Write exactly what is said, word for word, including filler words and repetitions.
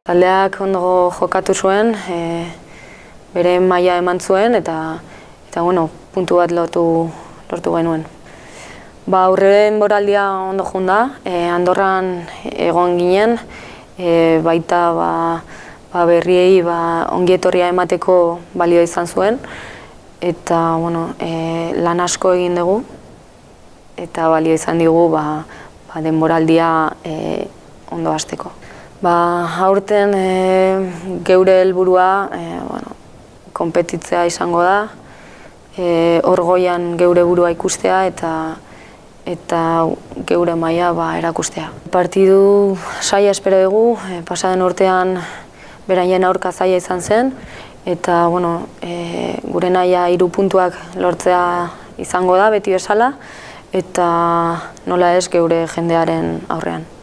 Taldeak ondo jokatu zuen, e, bere maila eman zuen eta eta bueno, puntu bat lortu lortu genuen. Ba, aurreen boraldia ondo joan da, e, Andorran egon ginen, e, baita ba, ba berriei ba, ongietorria emateko balio izan zuen eta bueno, e, lan asko egin dugu eta balio izan digu ba, ba denboraldia e, ondo hasteko. Ba, aurten e, geure helburua e, bueno, konpetitzea izango da, e, hor goian geure burua ikustea eta eta geure maila ba, erakustea. Partidu saia espero dugu, e, pasaden urtean beraien aurka zaila izan zen eta bueno, e, gure nahia hiru puntuak lortzea izango da beti bezala eta nola ez geure jendearen aurrean.